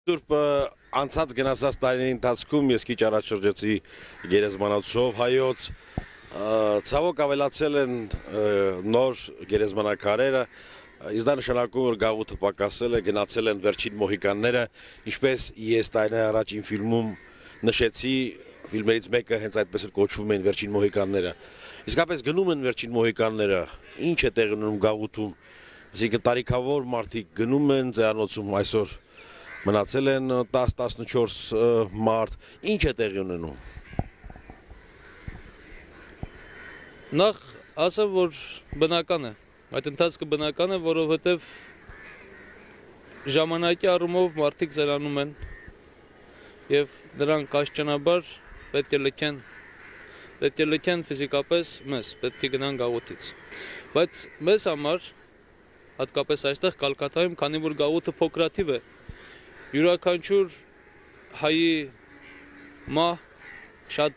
Սուրբ անցած գնացած տարիների ընթացքում ես քիչ առաջ շրջեցի գերեզմանոցով հայոց, ցավոք ավելացել են նոր գերեզմանակարերը, իսկ դա նշանակում որ գաղութը պակասել է, գնացել են վերջին մոհիկանները, ինչպես ես տարիներ առաջ իմ ֆիլմում նշեցի, ֆիլմերից մեկը հենց այդպես էլ կոչվում են վերջին մոհիկանները։ Իսկապես գնում են վերջին մոհիկանները, ինչ է տեղի ունենում գաղութում, այսինքն տարիքավոր մարդիկ գնում են ձերանոցում այսօր մնացել են 10-14 մարդ, ինչ է տեղի ունենում։ Նախ ասեմ, որ բնական է, այդ ընթացքը բնական է, որովհետև ժամանակի առումով մարդիկ ձերանում են և նրանք աստիճանաբար պետք է լքեն ֆիզիկապես մեզ, պետք է գնան գաղութից։ Բայց մեզ համար, հատկապես այստեղ Կալկատայում, քանի որ գաղութը փոքրաթիվ է, յուրաքանչյուր հայի մահ շատ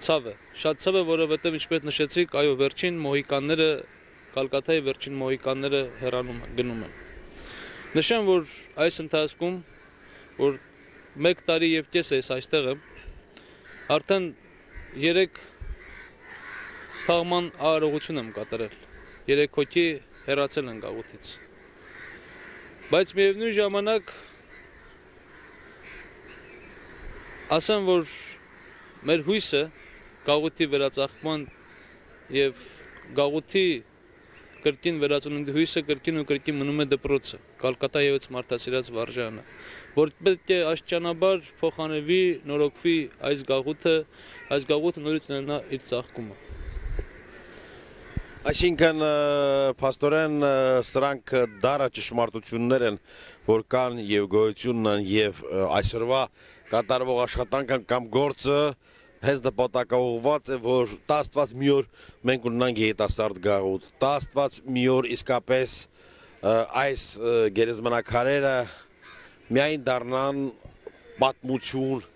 ցավ է, որովհետև ինչպես նշեցիք, այո, վերջին մոհիկանները, Կալկատայի վերջին մոհիկանները գնում են։ Նշեմ, որ այս ընթացքում, որ 1 տարի և կես է այստեղ եմ, արդեն 3 թաղման արարողություն եմ կատարել, 3 հոգի հեռացել են գաղութից։ Բայց միևնույն ժամանակ ասեմ, որ մեր հույսը գաղութի վերածաղկման և գաղութի կրկին վերածնունդի հույսը կրկին ու կրկին մնում է դպրոցը, Կալկատայի հայոց մարդասիրած վարժարանը, որ պետք է աստիճանաբար փոխանցվի, նորոգվի այս գաղութը նորից ունենա իր ծաղկումը։ Այսինքն, փաստորեն, սրանք դառը ճշմարտություններ են, որ կան և գոյություն են և այսօրվա կատարվող աշխատանքը կամ գործը հենց նպատակաուղղված է, որ տա Աստված մի օր մենք ունենանք երիտասարդ գաղութ, տա Աստված մի օր իսկապես այս գերեզմանակարերը միայն դառնան պատմություն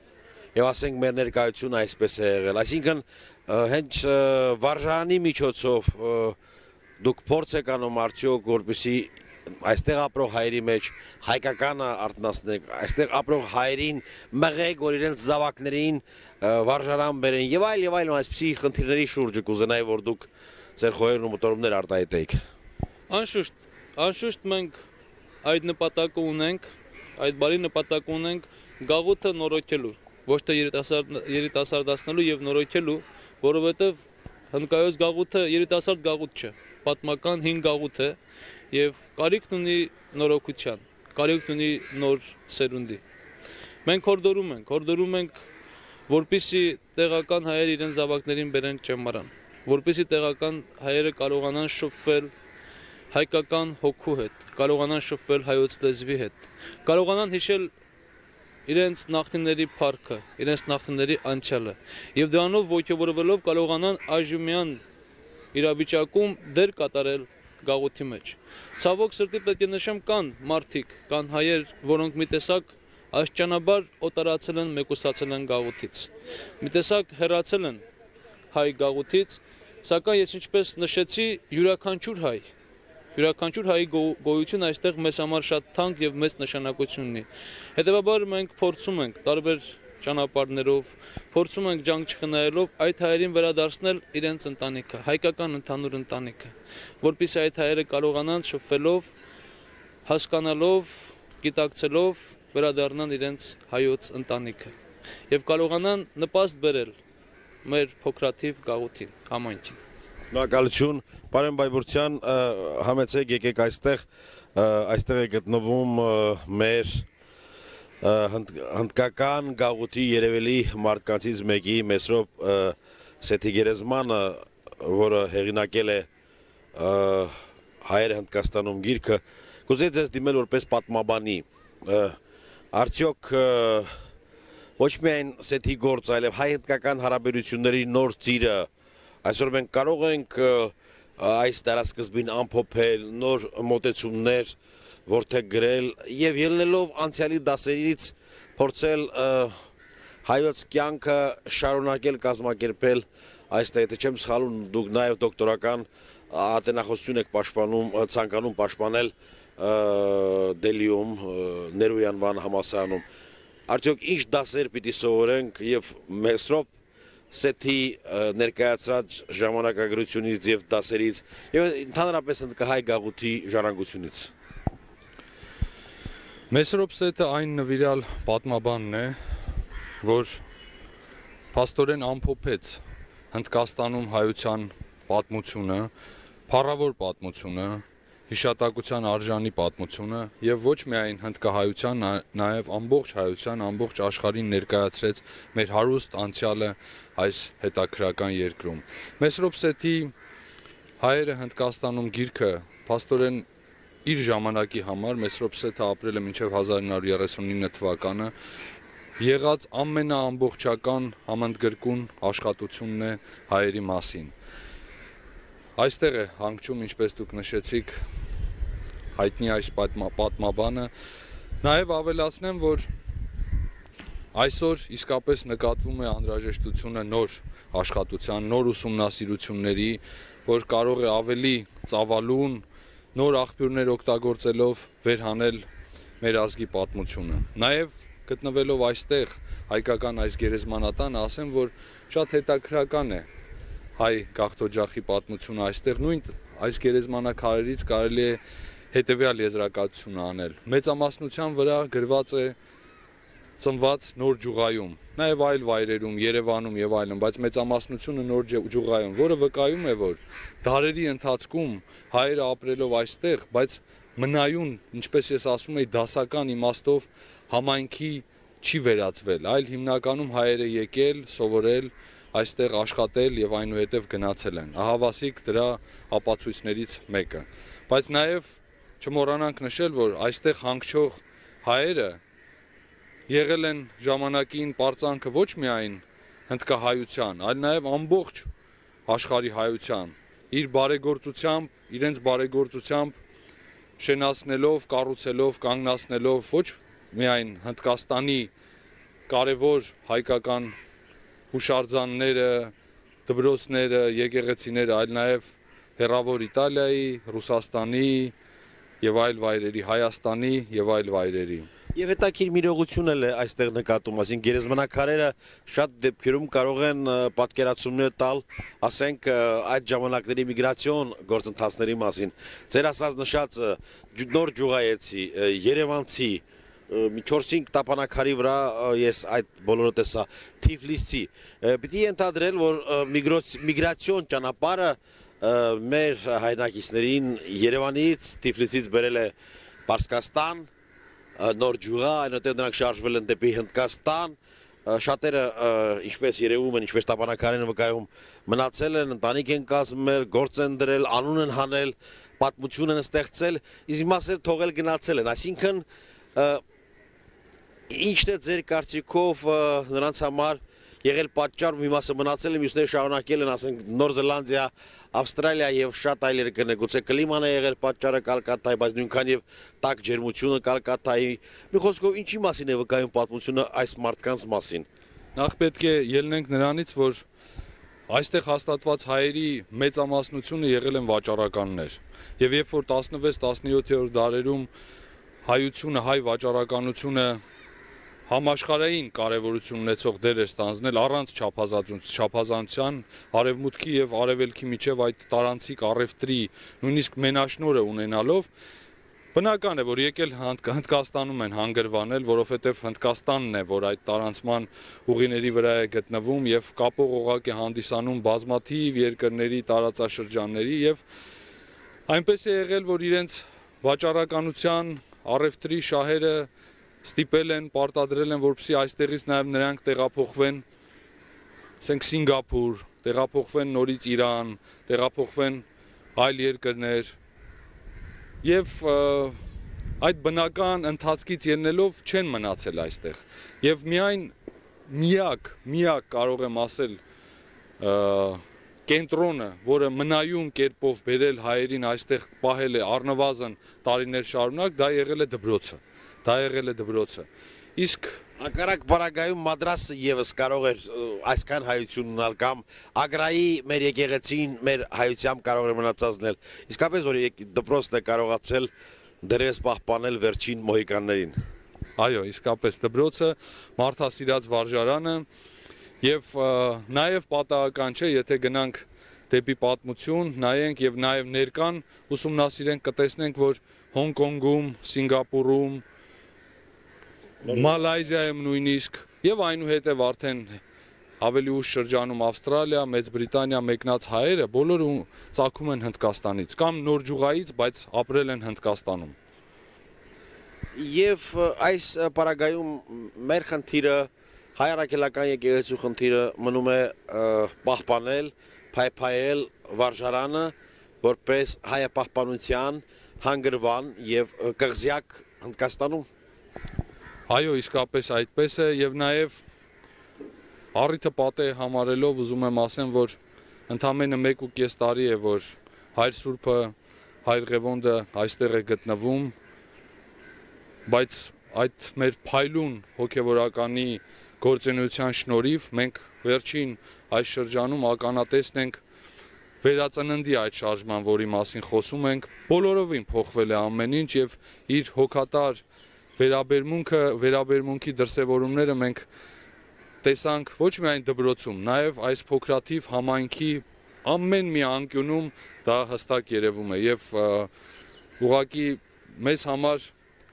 և ասենք մեր ներկայությունը այսպես է եղել, այսինքն հենց վարժարանի միջոցով դուք փորձ եք անում արդյոք, որպեսզի այստեղ ապրող հայերի մեջ հայկականը արթնացնեք, այստեղ ապրող հայերին մղեք, որ իրենց զավակներին վարժարան բերեն և այլ այսպիսի խնդիրների շուրջը կուզենայի, որ դուք ձեր խոհերն ու մտորումներ արտահայտեիք։ Անշուշտ մենք այդ նպատակը ունենք, այդ բարի նպատակը ունենք գաղութը նորոգելու, ոչ թե երիտասարդացնելու և նորոգելու, որովհետև հնդկայոց գաղութը երիտասարդ գաղութ չէ, պատմական հին գաղութ է և կարիքն ունի նորոգության, կարիքն ունի նոր սերունդի։ Մենք հորդորում ենք, որպեսզի տեղական հայերը իրենց զավակներին բերեն ճեմարան, որպեսզի տեղական հայերը կարողանան շփվել հայկական հոգու հետ, կարողանան շփվել հայոց լեզվի հետ, կարողանան հիշել իրենց նախնիների փառքը, իրենց նախնիների անցյալը և դրանով ոգևորվելով կարողանան այժմյան իրավիճակում դեր կատարել գաղութի մեջ։ Ցավոք սրտի պետք է նշեմ, կան մարդիկ, կան հայեր, որոնք մի տեսակ աստիճանաբար օտարացել են, մեկուսացել են գաղութից, մի տեսակ հեռացել են հայ գաղութից, սակայն ես ինչպես նշեցի, յուրաքանչյուր հայի գոյությունը այստեղ մեզ համար շատ թանկ և մեծ նշանակություն ունի։ Հետևաբար մենք փորձում ենք տարբեր ճանապարհներով, փորձում ենք ջանք չխնայելով այդ հայերին վերադարձնել իրենց ընտանիքը, հայկական ընդհանուր ընտանիքը, որպեսզի այդ հայերը կարողանան շփվելով, հասկանալով, գիտակցելով վերադառնան իրենց հայոց ընտանիքը և կարողանան նպաստ բերել մեր փոքրաթիվ գաղութին, համայնքին։ Շնորհակալություն, պարոն Բայբուրդյան, համեցեք եկեք այստեղ է գտնվում մեր հնդկական գաղութի երևելի մարդկանցից մեկի Մեսրոպ Սեթիգերեզմանը, որը հեղինակել է հայերը Հնդկաստանում գիրքը, կուզեի ձեզ դիմել որպես պատմաբանի, արդյոք ոչ միայն Սեթի գործ, այլև հայ-հնդկական հարաբերությունների նոր ծիրը, այսօր մենք կարող ենք այս դարասկզբին ամփոփել, նոր մոտեցումներ որդեգ գրել և ելնելով անցյալի դասերից փորձել հայոց կյանքը շարունակել կազմակերպել այստեղ, եթե չեմ սխալվում, դուք նաև դոկտորական ատենախոսություն եք ցանկանում պաշտպանել դելիում ներույան բան համասանում արդյոք ինչ դասեր պիտի սովորենք եւ Մեսրոպ Սեթի ներկայացրած ժամանակագրությունից եւ դասերից եւ ընդհանրապես հայ գաղութի ժառանգությունից Մեսրոպ Սեթը այն նվիրյալ պատմաբանն է, որ փաստորեն ամփոփեց Հնդկաստանում հայության պատմությունը, փառավոր պատմությունը, հիշատակության արժանի պատմությունը եւ ոչ միայն հնդկահայության, նաեւ ամբողջ հայության, ամբողջ աշխարհին ներկայացրեց մեր հարուստ անցյալը այս հետաքրական երկրում։ Մեսրոպ Սեթի հայերը Հնդկաստանում գիրքը փաստորեն իր ժամանակի համար Մեսրոպ Սեթը ապրել է մինչև 1939 թվականը եղած ամենաամբողջական համընդգրկուն աշխատությունն է հայերի մասին։ Այստեղ է հանգչում, ինչպես դուք նշեցիք, հայտնի այս պատմաբանը, նաև ավելացնեմ, որ այսօր իսկապես նկատվում է անհրաժեշտությունը նոր աշխատության, նոր ուսումնասիրությունների, որ կարող է ավելի ծավալուն, նոր աղբյուրներ օգտագործելով վերհանել մեր ազգի պատմությունը։ Նաև գտնվելով այստեղ հայկական այս գերեզմանատանը, ասեմ, որ շատ հետաքրքրական է հայ գաղթօջախի պատմությունը այստեղ նույն այս գերեզմանակարերից կարելի է հետևյալ եզրակացություն անել։ Մեծամասնության վրա գրված է ծնված Նոր Ջուղայում, նաև այլ վայրերում, Երևանում եւ այլն, բայց մեծամասնությունը Նոր Ջուղայում, որը վկայում է, որ դարերի ընթացքում հայերը ապրելով այստեղ, բայց մնայուն, ինչպես ես ասում եի, դասական իմաստով համայնքի չի վերածվել, այլ հիմնականում հայերը եկել, սովորել, այստեղ աշխատել եւ այնուհետև գնացել են։ Ահավասիկ դրա ապացույցներից մեկը։ Բայց նաեւ չմոռանանք նշել, որ այստեղ հանգչող հայերը եղել են ժամանակին պարծանքը ոչ միայն հնդկահայության, այլ նաեւ ամբողջ աշխարհի հայության, իր բարեգործությամբ, իրենց բարեգործությամբ շենացնելով, կառուցելով, կանգնացնելով ոչ միայն Հնդկաստանի կարևոր հայկական հուշարձանները, դպրոցները, եկեղեցիները, այլ նաև հեռավոր Իտալիայի, Ռուսաստանի եւ այլ վայրերի, Հայաստանի եւ այլ վայրերի։ Եվ հետաքրքիր մի իրողություն էլ է այստեղ նկատում, ասենք գերեզմանակարերը շատ դեպքերում կարող են պատկերացումներ տալ, ասենք այդ ժամանակների միգրացիոն գործընթացների մասին։ Ձեր ասած նշած Նոր Ջուղայեցի, Երևանցի մի 4-5 տապանակարի վրա ես այդ բոլորը տեսա Թիֆլիսցի պիտի ենթադրել որ միգրացիոն ճանապարհը մեր հայրենակիցներին Երևանից Թիֆլիսից բերել է Պարսկաստան Նոր Ջուղա այնուհետև նրանք շարժվել են դեպի Հնդկաստան շատերը ինչպես երևում են ինչպես տապանակարին վկայում մնացել են ընտանիք են կազմել գործ են դրել անուն են հանել պատմություն են ստեղծել իսկ մասը թողել գնացել են այսինքն Ինչն է ձեր կարծիքով նրանց համար եղել պատճառ մի մասը մնացել է մյուսները շարունակել են ասենք Նոր Զելանդիա, Ավստրալիա եւ շատ այլ երկրներ գուցե կլիման է եղել պատճառը Կալկատայի, բայց նույնքան եւ տաք ջերմությունը Կալկատայի։ Մի խոսքով ինչի մասին է վկայում պատմությունը այս մարդկանց մասին։ Նախ պետք է ելնենք նրանից, որ այստեղ հաստատված հայերի մեծամասնությունը եղել են վաճառականներ։ Եվ երբ որ 16-17-րդ դարերում հայությունը, հայ վաճառականությունը համաշխարհային կարևորություն ունեցող դեր է ստանձնել առանց չափազանցության արևմուտքի եւ արևելքի միջև այդ տարանցիկ առևտրի նույնիսկ մենաշնորհը ունենալով բնական է որ եկել Հնդկաստանում են հանգրվանել որովհետեւ Հնդկաստանն է որ այդ տարանցման ուղիների վրա է գտնվում եւ կապող օղակ է հանդիսանում բազմաթիվ երկրների տարածաշրջանների եւ այնպես է եղել որ իրենց վաճառականության առևտրի շահերը ստիպել են, պարտադրել են, որպեսզի այստեղից նաև նրանք տեղափոխվեն, ասենք Սինգապուր, տեղափոխվեն նորից Իրան, տեղափոխվեն այլ երկրներ եւ այդ բնական ընթացքից ելնելով չեն մնացել այստեղ եւ միայն միակ կարող եմ ասել կենտրոնը, որը մնայուն կերպով բերել հայերին այստեղ պահել է առնվազն տարիներ շարունակ, դա եղել է դպրոցը։ Իսկ Անկարակ բարագայում մադրասը եւս կարող էր այսքան հայություն ունալ կամ Ագրայի մեր եկեղեցին մեր հայությամբ կարող էր մնացածնել։ Իսկապես որ դպրոցն է կարողացել դերևս պահպանել վերջին մոհիկաններին։ Այո, իսկապես դպրոցը մարդասիրած վարժարանը եւ նաեւ պատահական չէ, եթե գնանք դեպի պատմություն, նայենք եւ նաեւ ներկան ուսումնասիրենք, կտեսնենք, որ Հոնկոնգում, Սինգապուրում, Մալայզիայում նույնիսկ եւ այնուհետեւ արդեն ավելի ուշ շրջանում Ավստրալիա, Մեծ Բրիտանիա մեկնած հայերը բոլորը ծագում են Հնդկաստանից կամ Նորջուղայից, բայց ապրել են Հնդկաստանում։ Եվ այս պարագայում մեր խնդիրը հայրաքելական եկեղեցու խնդիրը մնում է պահպանել, փայփայել վարժարանը, որպես հայապահպանության հանգրվան եւ կղզյակ Հնդկաստանում։ Այո, իսկապես այդպես է եւ նաեւ առիթը պատե համարելով ուզում եմ ասեմ, որ ընդամենը 1.5 տարի է, որ Հայր Սուրբը, Հայր Ղևոնդը այստեղ է գտնվում, բայց այդ մեր փայլուն հոգևորականի գործունեության շնորհիվ մենք վերջին այս շրջանում ականատեսն ենք վերածննդի այդ շարժման, որի մասին խոսում ենք, բոլորովին փոխվել է ամեն ինչ եւ իր հոգատար վերաբերմունքի դրսևորումները մենք տեսանք ոչ միայն դպրոցում, նաև այս փոքրաթիվ համայնքի ամեն մի անկյունում դա հստակ երևում է եւ ուղղակի մեզ համար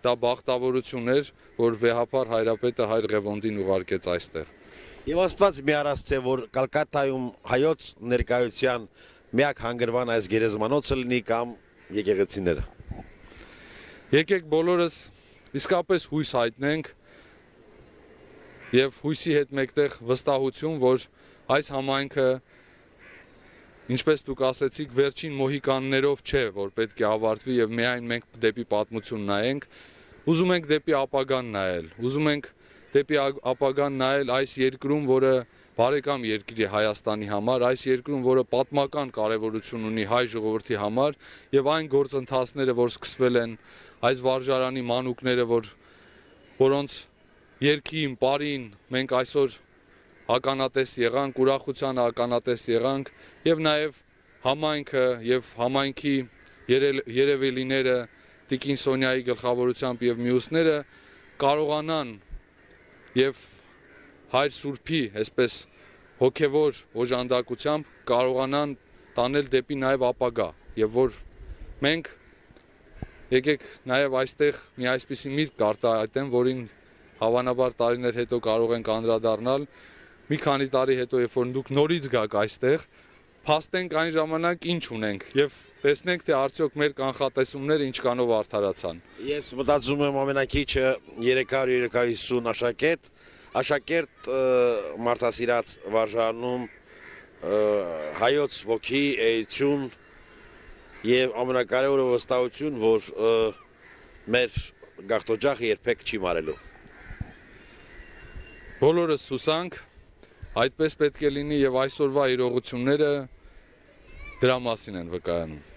դա բախտավորություն էր, որ վեհապար հայրապետը Հայր Ղևոնդին ուղարկեց այստեղ։ Եվ Աստված մի առասցե, որ Կալկատայում հայոց ներկայության միակ հանգրվան այս գերեզմանոցը լինի կամ եկեղեցիները։ Եկեք բոլորս իսկապես հույս հայտնենք եւ հույսի հետ մեկտեղ վստահություն, որ այս համայնքը, ինչպես դուք ասեցիք, վերջին մոհիկաններով չէ, որ պետք է ավարտվի եւ միայն մենք դեպի պատմություն նայենք, ուզում ենք դեպի ապագան նայել, ուզում ենք դեպի ապագան նայել այս երկրում, որը բարեկամ երկիր է Հայաստանի համար, այս երկրում, որը պատմական կարևորություն ունի հայ ժողովրդի համար եւ այն գործընթացները, որ սկսվել են, այս վարժարանի մանուկները, որոնց երկին, պարին մենք այսօր ականատես եղանք, ուրախության ականատես եղանք եւ նաեւ համայնքը եւ համայնքի երևելիները Տիկին Սոնյայի գլխավորությամբ եւ մյուսները կարողանան եւ Հայր Սուրբի, այսպես հոգեվոր օժանդակությամբ կարողանան տանել դեպի նաեւ ապագա եւ որ մենք եկեք նաեւ այստեղ մի այսպիսի միտք կարտահայտեմ, որին հավանաբար տարիներ հետո կարող ենք անդրադառնալ, մի քանի տարի հետո, երբ որ դուք նորից գաք այստեղ, փաստենք այն ժամանակ ինչ ունենք եւ տեսնենք, թե արդյոք մեր կանխատեսումները ինչքանով արդարացան։ Ես մտածում եմ ամենակիչը 300-350 աշակերտ մարդասիրած վարժանում հայոց ոգի էություն եւ ամենակարևորը վստահություն, որ մեր գաղթօջախը երբեք չի մարելու։ Բոլորս հուսանք, այդպես պետք է լինի եւ այսօրվա իրողությունները դրա մասին են վկայանում։